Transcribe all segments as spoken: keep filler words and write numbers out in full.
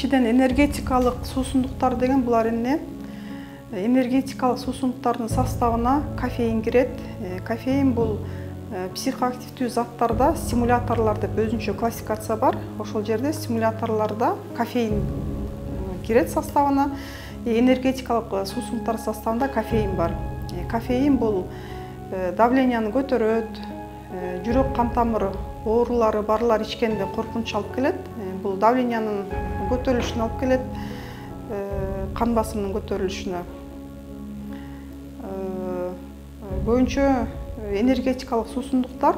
биринчиден энергетикалык суусундуктар деген булар эмне? Энергетикалык суусундуктардын составына кофеин кирет. Кофеин бул психоактивдүү заттарда стимуляторлор деп өзүнчө классификация бар. Ошол жерде стимуляторлордо кофеин кирет составына. Энергетикалык суусундуктар составында кофеин бар. Кофеин бул давленияны көтөрөт, жүрөк кан тамыр оорулары барлар ичкенде коркунуч алып келет. Бул давлениянын көтөрүлүшүнө алып келет, кан басымынын көтөрүлүшүнө. Көбүнчө энергетикалык суусундуктар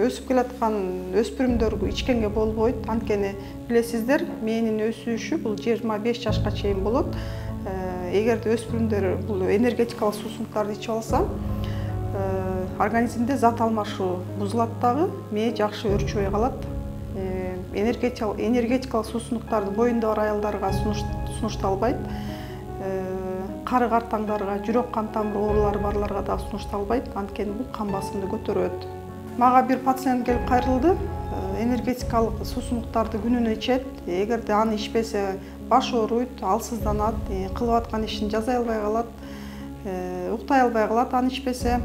өсүп келаткан өспүрүмдөр ичкенге болбойт. Анткени билесиздер, мээнин өсүшү бул жыйырма беш жашка чейин болот. Эгерде өспүрүмдөр бул энергетикалык суусундуктарды ичип алса, организмде зат алмашуу бузулат дагы, мээ жакшы өрчүбөй калат. Энергетикалык суусундуктарды боюнда бар аялдарга сунушталбайт. Кары картаңдарга, жүрөк кан тамыр оорулары барларга да сунушталбайт. Анткени бул кан басымды көтөрөт. Мага бир пациент келип кайрылды. Энергетикалык суусундуктарды күнүнө ичет. Эгерде аны ичпесе баш ооруйт, алсызданат, кылып аткан ишин жасай албай калат, уктай албай калат аны ичпесе.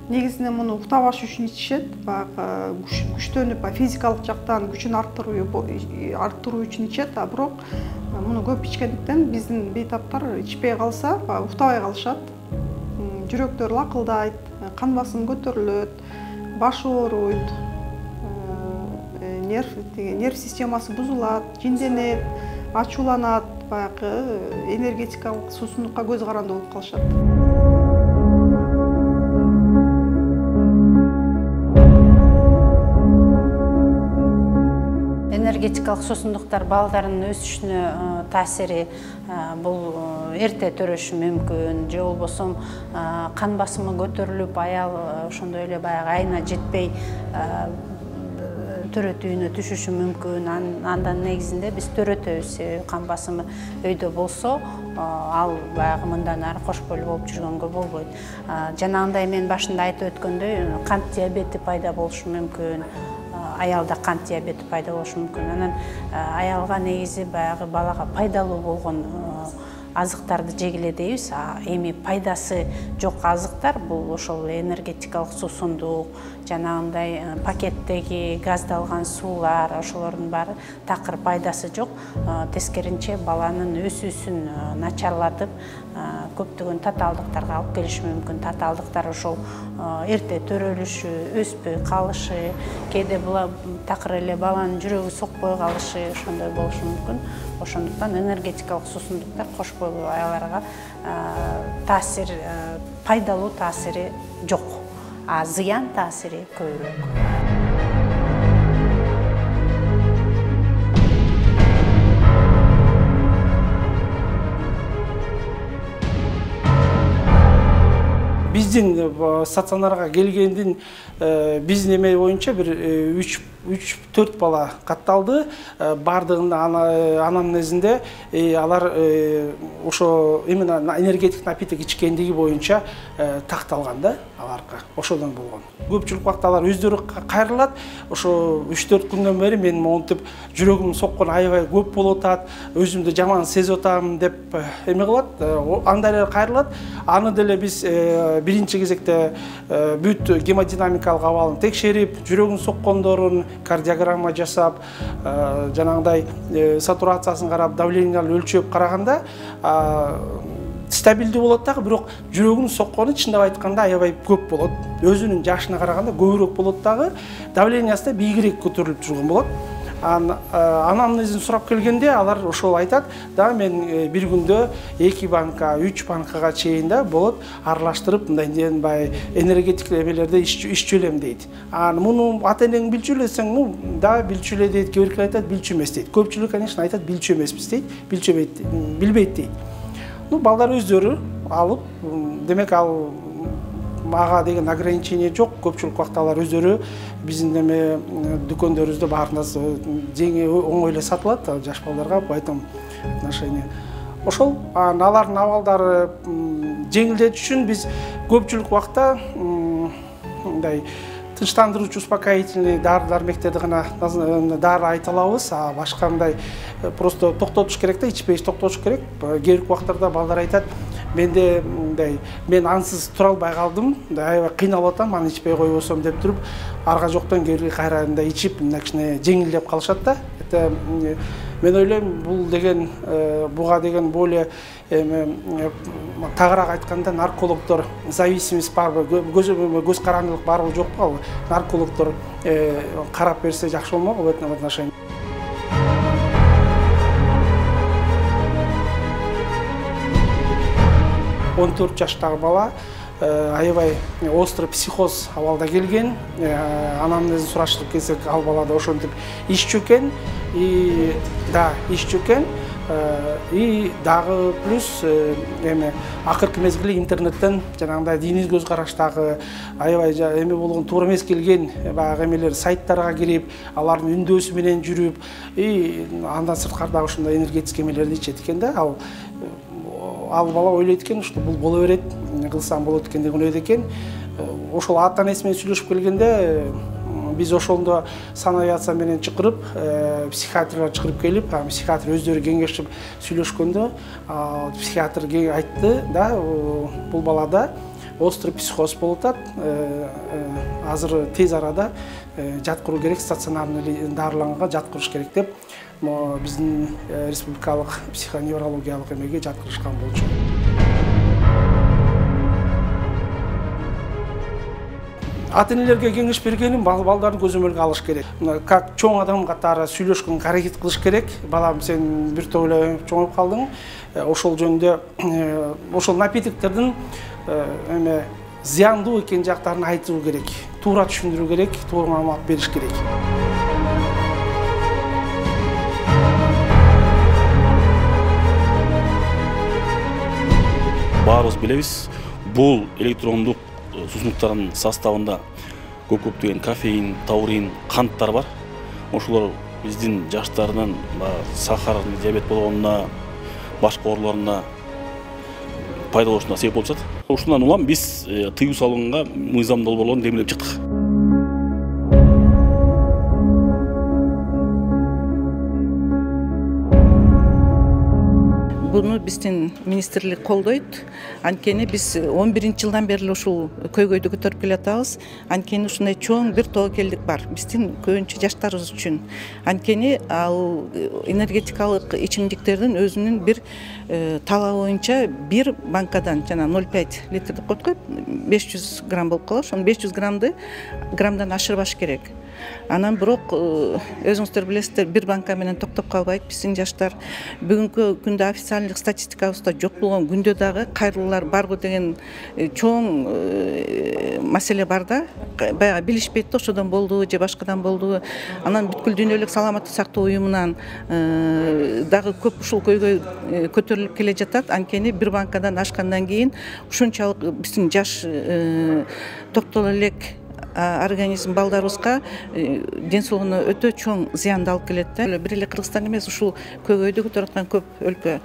Негизинен муну уктабаш үчүн ичишет, баягы күчтөнүп, физикалык жактан күчүн арттыруу арттыруу үчүн ичет, а бирок муну көп ичкендиктен биздин бейтаптар ичпей калса, уктабай калышат. Жүрөктөр лакылдайт, кан басымы көтөрүлөт, баш ооруйт, нерв нерв системасы бузулат, жинденет, ачууланат, баягы энергетикалык суусундукка көз каранды болуп калышат. Энергетикалык суусундуктар балдардын өсүшүнө таасири бул эрте төрөшү мүмкүн, же болбосо кан басымы көтөрүлүп, аял ошондой эле баягы айына жетпей төрөтүүнө түшүшү мүмкүн. Андан негизинде биз төрөтөбүз. Кан басымы өйдө болсо, ал баягы мындан ары кош бойлуу болуп жүргөнгө болбойт. Жанагындай мен башында айтып өткөндөй, кант диабети пайда болушу мүмкүн. Аялда кант диабети пайда болушу мүмкүн. Анан аялга негизи баягы балага пайдалуу болгон азыктарды жегиле дейбиз. Эми пайдасы жок азыктар бул ошол энергетикалык суусундук, жанагындай пакеттеги газдалган суулар, ошолордун баары такыр пайдасы жок. Тескеринче баланын өсүүсүн начарлатып, көптөгөн татаалдыктарга алып келиши мүмкүн. Татаалдыктар ошол эрте төрөлүшү, өспөй калышы, кээде такыр эле баланын жүрөгү сокпой калышы, ошондой болушу мүмкүн. Ошондуктан энергетикалык суусундуктар кош бойлуу аялдарга таасир, пайдалуу таасири жок, а зыян таасири көбүрөөк. Биздин стационарга келгендин биздин эме боюнча бир үч төрт бала катталды. Бардыгында анамнезинде алар ошо именно энергетик напиток ичкендиги боюнча такталган да аларга. Ошодон болгон. Көпчүлүк убакта алар өздөрү кайрылат. Ошо үч төрт күндөн бери мен монтип жүрөгүм соккон аябай көп болуп атат, өзүмдү жаман сезип атам деп эме кылат. Андай эле кайрылат. Аны деле биз биринчи кезекте бүт гемодинамикалык абалын текшерип, жүрөгүн соккондорун кардиограмма жасап, жанагындай сатурациясын карап, давлениялы өлчөп караганда стабилдүү болот дагы, бирок жүрөгүнүн соккону чындап айтканда аябай көп болот. Өзүнүн жашына караганда көбүрөөк болот дагы, давлениясы да бийигирээк көтөрүлүп жүргөн болот. Анамнезин сурап келгенде алар ошол айтат, да мен бир күндө эки банка, үч банкага чейин да болот аралаштырып, мындай ден бай энергетик эмелерде иччү элем дейт. А муну ата энең билчү элесең, ну да билчү эле дейт, кээ бирки айтат билчү эмес дейт. Көпчүлүк конечно айтат билчү эмеспиз дейт, билчү билбейт дейт. Ну балдар өздөрү алып, демек ал мага деген ограничение жок. Көпчүлүк убакта алар өздөрү биздин эме дүкөндөрүбүздө баарында жеңи оңой эле сатылат жаш балдарга, поэтому отношение. Ошол алардын абалдары жеңилдетиш үчүн биз көпчүлүк убакта мындай тынчтандыруучу успокоительный дары дармектерди гана дары айта алабыз, а башка мындай просто токтотуш керек да, ичпей токтотуш керек. Кээ бир убактарда балдар айтат, менде мындай мен ансыз тура албай калдым, аябай кыйналып атам, аны ичпей койбосом деп туруп, арга жоктон кээ бир кайра мындай ичип, мындай кичине жеңилдеп калышат да. Мен ойлойм, бул деген буга деген более тагыраак айтканда наркологдор зависимость барбы, көз карандылык барбы жокпу, ал наркологдор карап берсе жакшы болмокпу в этом отношении. он төрт жаштагы бала аябай острый психоз абалда келген. Анамнезин сураштырып келсек, ал балада ошентип иччү экен, и да, иччү экен. И дагы плюс эме акыркы мезгилде интернеттен жанагындай диний көз караштагы аябай эме болгон туура эмес келген баягы эмелер сайттарга кирип, алардын үндөсү менен жүрүп, и андан сырткары дагы ушундай энергетический эмелерди ичет экен да. Ал ал бала ойлойт экен, что бул боло берет, кылсам болот экен деп ойлойт экен. Ошол ата энеси менен сүйлөшүп келгенде биз ошондо санавиация менен чакырып, психиатрлар чакырып келип, психиатр өздөрү кеңешип сүйлөшкөндө, психиатр айтты да, бул балада острый психоз болуп атат. Азыр тез арада жаткыруу керек, стационарный дарыланганга жаткырыш керек деп биздин республикалык психоневрологиялык эмеге жаткырышкан болчу. Ата-энелерге кеңеш бергеним, балдарды көзөмөлгө алыш керек. Как чоң адам катары сүйлөшкөнгө аракет кылыш керек. Балам, сен бир топ эле чоңоюп калдың. Ошол жөнүндө ошол напитоктордун эме зыяндуу экен жактарын айтуу керек. Туура түшүндүрүү керек, туура маалымат бериш керек. Баарыбыз билебиз, бул электрондук суусундуктардын составында көп көптөгөн кофеин, таурин, канттар бар. Ошолор биздин жаштардын сахарный диабет болгонуна, башка ооруларына пайда болушуна себеп болуп жатат. Ушундан улам биз тыюу салганга мыйзам долбоорлорун демилеп чыктык. Буну биздин министрлик колдойт. Анткени биз он биринчи жылдан бери ушул көйгөйдү көтөрүп келатабыз. Анткени ушундай чоң бир тобокелдик бар биздин көбүнчө жаштарыбыз үчүн. Анткени ал энергетикалык ичимдиктердин өзүнүн бир талабы боюнча бир банкадан жана ноль пять литр деп коет го, беш жүз грамм болуп калат. Ошону беш жүз граммды граммдан ашырбаш керек. Анан бирок өзүңүздөр билесиздер, бир банка менен токтоп калбайт биздин жаштар. Бүгүнкү күндө официалдык статистикабызда жок болгон күндө дагы кайрылуулар барбы деген чоң маселе бар да. Баягы билишпейт да, ошодон болдубу же башкадан болдубу. Анан бүткүл дүйнөлүк саламаттык сактоо уюмунан дагы көп ушул көйгөй көтөрүлүп келе жатат. Анткени бир банкадан ашкандан кийин ушунчалык биздин жаш токтол элек организм балдарыбызга ден соолугуна өтө чоң зыянды алып келет да. Бир эле Кыргызстан эмес, ушул көйгөйдү көтөрүп аткан көп өлкө.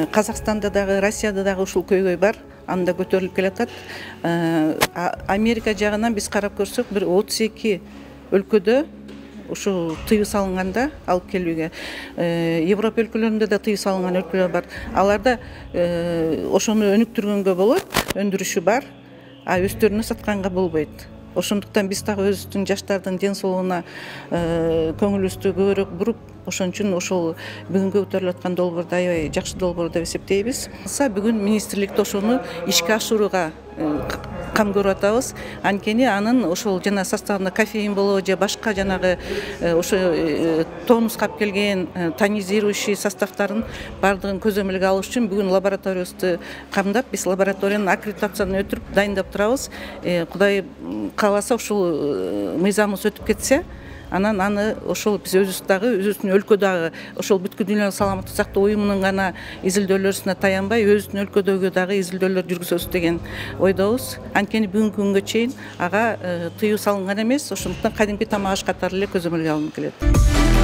Казакстанда дагы, Россияда дагы ушул көйгөй бар. Анда көтөрүлүп келатат. Америка жагынан биз карап көрсөк, бир отуз эки өлкөдө ушул тыюу салынганда алып келүүгө. Европа өлкөлөрүндө да тыюу салынган өлкөлөр бар. Аларда ошону өнүктүргөнгө болот, өндүрүшү бар, а өздөрүнө сатканга болбойт. Ошондуктан биз дагы өзүбүздүн жаштардын ден соолугуна көңүлүбүздү көбүрөөк буруп, ошон үчүн ошол бүгүнкү көтөрүлүп аткан долбоорду аябай жакшы долбоор деп эсептейбиз. Бүгүн министрликте ошону ишке ашырууга кам көрүп атабыз. Анткени анын ошол жана составында кофеин болобу же башка жанагы ошо тонуска алып келген тонизирующий составдарын бардыгын көзөмөлгө алыш үчүн бүгүн лабораториябызды камдап, биз лабораториянын аккредитацияны өтүрүп дайындап турабыз. Кудай кааласа ушул мыйзамыбыз өтүп кетсе, анан аны ошол биз өзүбүз дагы өзүбүздүн өлкө дагы ошол бүткүл дүйнөлүк саламаттык сактоо уюмунун гана изилдөөлөрүнө таянбай өзүбүздүн өлкөдөгү дагы изилдөөлөр жүргүзөбүз деген ойдобуз. Анткени бүгүнкү күнгө чейин ага тыюу салынган эмес, ошондуктан кадимки тамак аш катары эле көзөмөлгө алынып келет.